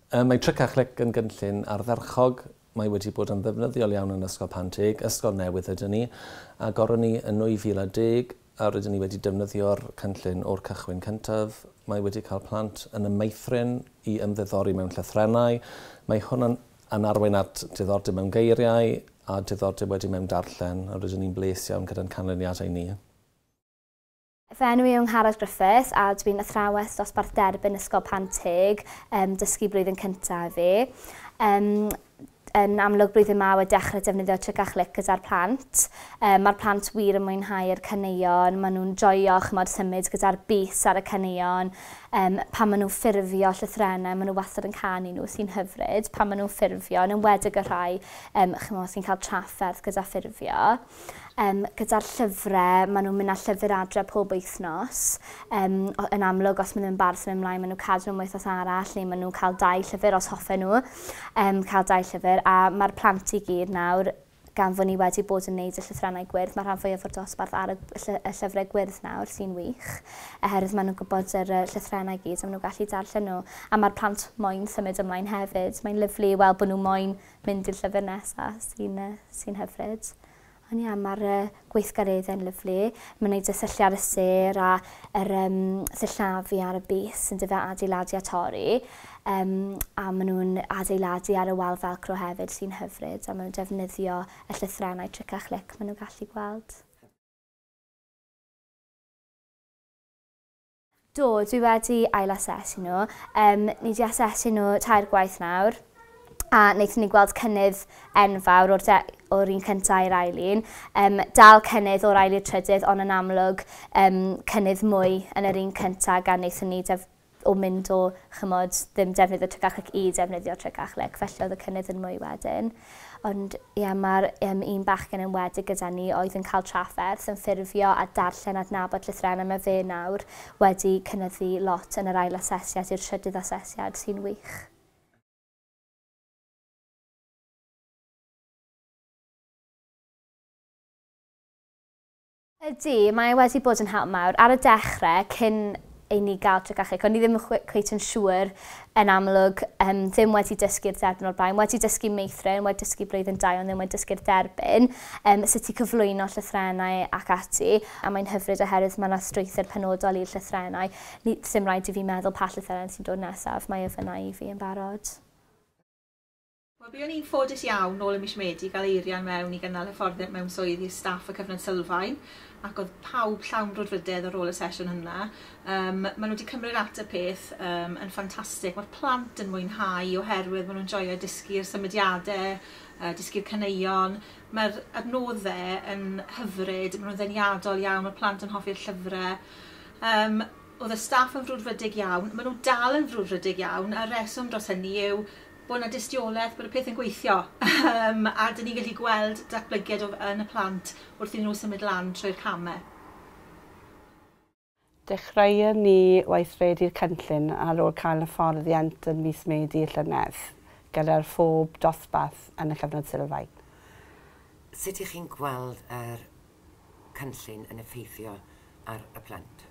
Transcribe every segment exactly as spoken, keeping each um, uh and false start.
Mae Tric a Chlic yn gynllun ardderchog. Mae wedi bod yn ddefnyddiol iawn yn Ysgol Panteg, ysgol newydd ydyn ni, a agoron ni yn nwy fil a deg, a rydyn ni wedi defnyddio'r cynllun o'r cychwyn cyntaf. Mae wedi cael plant yn y meithrin i ymddiddori mewn llythrennau. Mae hwn yn, yn arwain at diddordeb mewn geiriau a diddordeb wedi mewn darllen, a rydyn ni'n bles iawn gyda'n canlyniadau ni. Fy enw i yw Angharad Griffiths a dwi'n athrawes dosbarth derbyn Ysgol Panteg, um, dysgu blwyddyn cyntaf fi. Um, yn amlwg blwyddyn yma wedi dechrau defnyddio Tric a Chlic gyda'r plant. Um, Mae'r plant wir yn mwynhau'r caneuon, maen nhw'n joio chymod symud gyda'r bys ar y caneuon. Um, pan maen nhw'n ffurfio llythrennau, maen nhw wastad yn canu nhw sy'n hyfryd. Pan maen nhw'n ffurfio, yn enwedig y rhai um, chymod, sy'n cael trafferth gyda ffurfio. Um, gyda'r llyfrau, maen nhw'n mynd â llyfr adre pob wythnos. Um, yn amlwg, os maen nhw'n barod symud ymlaen, maen nhw'n cadw nhw'n wythnos arall, neu maen nhw'n cael dau llyfr os hoffen nhw. Um, cael dau llyfr, a mae'r plant i gyd nawr, gan fod ni wedi bod yn neud y llythrennau gwyrdd, mae rhan fwyaf o'r dosbarth ar y, y llyfrau gwyrdd nawr sy'n wych, oherwydd maen nhw'n gwybod yr llythrennau gyd a maen nhw'n gallu darllen nhw. A mae'r plant moyn symud ymlaen hefyd. Mae'n lyfli i weld bod nhw moyn mynd i'r llyfr nesaf sy'n sy hyfryd. Ond ia, mae'r uh, gweithgareddau'n lyfli. Mae'n gwneud y syllu ar y sêr a yr um, sillafu ar y bys yn dyfe adeiladu a torri. Um, a maen nhw'n adeiladu ar y wal velcro hefyd sy'n hyfryd. A maen nhw'n defnyddio y llythrennau Tric a Chlic maen nhw'n gallu gweld. Do, dwi wedi ail-asesu nhw. Um, ni wedi asesu nhw tair gwaith nawr. A wnaethon ni gweld cynnydd enfawr o'r, o'r un cyntaf i'r ail un. Um, dal cynnydd o'r ail i'r trydydd, ond yn amlwg um, cynnydd mwy yn yr un cyntaf gan wnaethon ni def o mynd o chymod, ddim defnyddio Tric a Chlic i defnyddio Tric a Chlic, felly oedd y cynnydd yn mwy wedyn. Ond ie, mae'r um, un bachgen yn enwedig gyda ni oedd yn cael trafferth yn ffurfio a darllen adnabod llythrennau. Mae fe nawr wedi cynyddu lot yn yr ail asesiad i'r trydydd asesiad sy'n wych. Ydy, mae wedi bod yn help mawr. Ar y dechrau, cyn i ni gael Tric a Chlic, o'n i ddim cweit yn siŵr yn amlwg, um, ddim wedi dysgu'r derbyn o'r blaen, wedi dysgu meithrin, wedi dysgu blwyddyn dau, ond ddim wedi dysgu'r derbyn, um, sut i cyflwyno llythrennau ac ati, a mae'n hyfryd oherwydd mae yna strwythur penodol i'r llythrennau. Sim rhaid i fi meddwl pa llythrennau sy'n dod nesaf, mae e fyna i fi yn barod. Wel, buon ni'n ffodus iawn nôl ym mis Medi i gael Eirian mewn i gynnal hyfforddiant mewn swydd i staff y cyfnod sylfaen, ac oedd pawb llawn brwdfrydedd ar ôl y sesiwn hynna. Um, maen nhw wedi cymryd at y peth um, yn ffantastig. Mae'r plant yn mwynhau oherwydd maen nhw'n joio dysgu'r symudiadau, uh, dysgu'r caneuon. Mae'r adnoddau yn hyfryd, maen nhw'n ddeniadol iawn, mae'r plant yn hoffi'r llyfrau. Um, oedd y staff yn frwdfrydig iawn, maen nhw dal yn frwdfrydig iawn, a'r reswm dros hynny yw bod yna dystiolaeth bod y peth yn gweithio um, a dyn ni'n gallu gweld datblygiad yn y plant wrth i nhw symud lan trwy'r camau. Dechreuon ni weithredu'r cynllun ar ôl cael hyfforddiant yn mis Medi y llynedd gyda'r phob dosbarth yn y cyfnod sylfaen. Sut ych chi'n gweld yr cynllun yn effeithio ar y plant?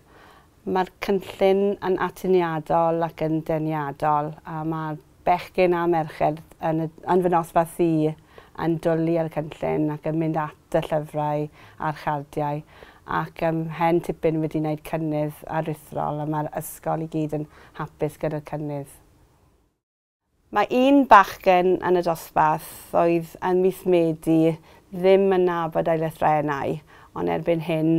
Mae'r cynllun yn atyniadol ac yn deniadol, a mae'r bechgyn a merched yn, yn fy nosbarth i yn dwlu ar y cynllun ac yn mynd at y llyfrau a'r chardiau, ac um, hen tipyn wedi wneud cynnydd aruthrol, a mae'r ysgol i gyd yn hapus gyda'r cynnydd. Mae un bachgen yn y dosbarth oedd yn mis Medi ddim yn nabod ei lythrennau, ond erbyn hyn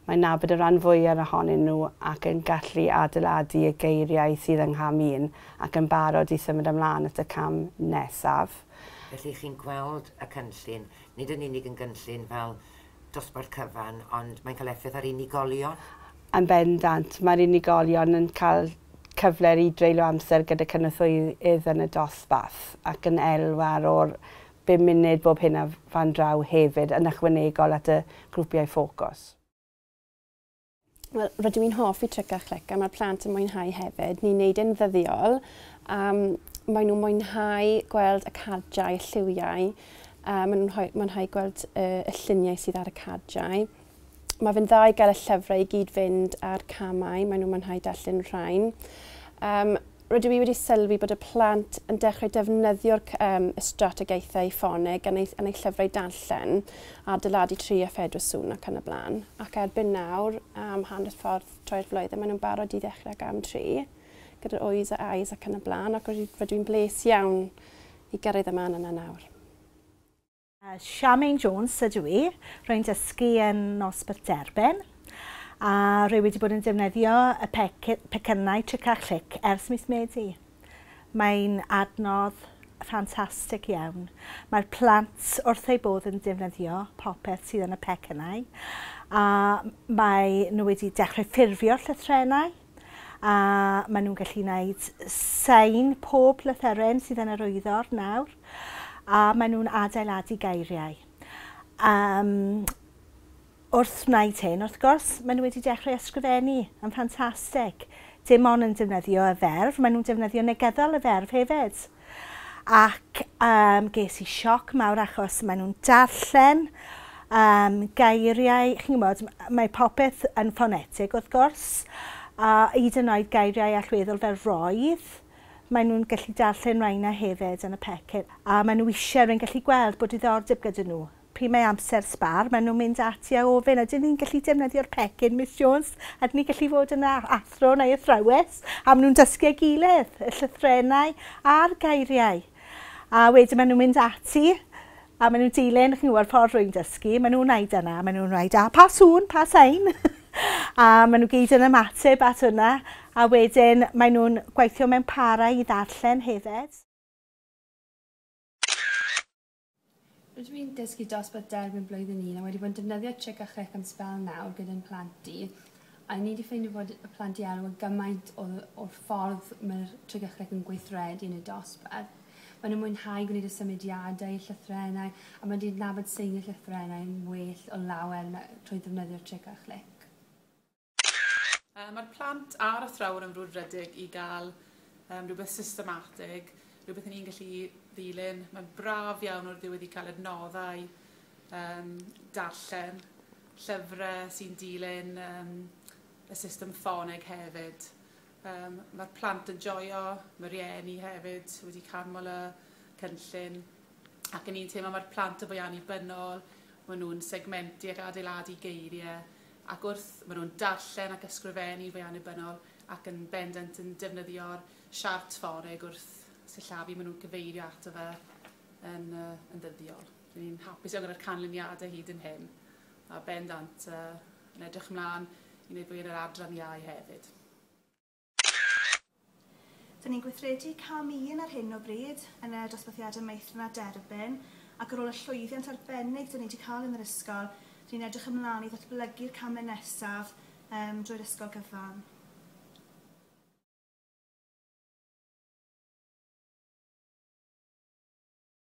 mae'n nabod y rhan fwyaf ohonyn nhw ac yn gallu adeiladu y geiriau sydd yng ngham un ac yn barod i symud ymlaen at y cam nesaf. Felly chi'n gweld y cynllun, nid yn unig yn gynllun fel dosbarth cyfan, ond mae'n cael effaith ar unigolion? Yn bendant, mae'r unigolion yn cael cyfle i dreulio amser gyda cynorthwyydd yn y dosbarth ac yn elwa o'r bum munud bob hyn a fan draw hefyd yn ychwanegol at y grwpiau ffocws. Wel, rydw i'n hoffi Tric a Chlic a mae'r plant yn mwynhau hefyd. Ni'n neud e'n ddyddiol. Um, maen nhw'n mwynhau gweld y cardiau, y lliwiau. Uh, maen nhw'n mwynhau gweld uh, y lluniau sydd ar y cardiau. Mae fe'n dda i gael y llyfrau i gyd fynd ar camau. Maen nhw'n mwynhau darllen rhain. Um, Rydw i wedi sylwi bod y plant yn dechrau defnyddio'r um, y strategaethau ffoneg yn eu, yn eu llyfrau darllen, adeiladu tri a phedwar sŵn ac yn y blaen. Ac erbyn nawr, am hanner ffordd trwy'r flwyddyn, maen nhw'n barod i ddechrau gam tri, gyda'r oes a ais ac yn y blaen, ac rydw i'n bles iawn i gyrraedd y man yna nawr. Charmaine Jones ydw i, rwy'n dysgu yn nosbarth derbyn. A rwy wedi bod yn defnyddio y pecynnau Tric a Chlic ers mis Medi. Mae'n adnodd ffantastig iawn. Mae'r plant wrth eu bodd yn defnyddio popeth sydd yn y pecynnau. A mae nhw wedi dechrau ffurfio'r llythrennau. A maen nhw'n gallu gwneud sain pob lythyren sydd yn yr wyddor nawr. A maen nhw'n adeiladu geiriau. Um, Wrth wneud hyn, wrth gwrs, maen nhw wedi dechrau ysgrifennu yn ffantastig. Dim ond yn defnyddio y ferf, maen nhw'n defnyddio negyddol y ferf hefyd. Ac um, ges i sioc mawr achos maen nhw'n darllen um, geiriau, chi'n gwybod, mae popeth yn ffonetig wrth gwrs, a hyd yn oed geiriau allweddol fel roedd, maen nhw'n gallu darllen rhaina hefyd yn y pecyn. A maen nhw eisiau, rwy'n gallu gweld bod diddordeb gyda nhw. Pryd mae amser sbar, maen nhw'n mynd ati a ofyn, ydyn ni'n gallu defnyddio'r pecyn, Miss Jones? Ydyn ni'n gallu fod yn athro neu athrawes? A maen nhw'n dysgu ei gilydd, y llythrennau a'r geiriau. A wedyn maen nhw'n mynd ati, a maen nhw'n dilyn, chi'n gwybod ffordd rwy'n dysgu, maen nhw'n wneud yna, maen nhw'n wneud, a pa sŵn, pa sain? A maen nhw gyd yn ymateb at hwnna, a wedyn maen nhw'n gweithio mewn parau i ddarllen hefyd. Rydw i'n dysgu dosbarth derbyn blwyddyn un a wedi bod yn defnyddio Tric a Chlic am sbel nawr gyda'n plant i. A ni wedi ffeindio bod y plant i elwa gymaint o'r ffordd mae'r Tric a Chlic yn gweithredu yn y dosbarth. Maen nhw'n mwynhau gwneud y symudiadau, llythrennau, a maen nhw'n nabod seiniau llythrennau yn well o lawer trwy ddefnyddio'r Tric a Chlic. Mae'r plant a'r athrawon yn frwdfrydig i gael um, rhywbeth systematig, rhywbeth ni'n gallu ddilyn. Mae'n braf iawn o'r ddiwedd i cael adnoddau, um, darllen, llyfrau sy'n dilyn um, y system ffoneg hefyd. Um, mae'r plant yn joio, mae rhieni hefyd wedi canmol y cynllun. Ac yn un teimlo mae'r plant yn fwy annibynnol, maen nhw'n segmentu ac adeiladu geiriau, ac wrth maen nhw'n darllen ac ysgrifennu fwy annibynnol ac yn bendant yn defnyddio'r siart ffoneg wrth sillafu, maen nhw'n cyfeirio ato fe yn, uh, yn ddyddiol. Ni'n hapus iawn gyda'r canlyniadau hyd yn hyn, a bendant uh, yn edrych ymlaen i wneud fwy yn yr adran iau hefyd. Dyn ni'n gweithredu cam un ar hyn o bryd yn y dosbarthiadau meithrin a derbyn, ac ar ôl y llwyddiant arbennig dyn ni wedi cael yn yr ysgol, dyn ni'n edrych ymlaen i ddatblygu'r camau nesaf um, drwy'r ysgol gyfan.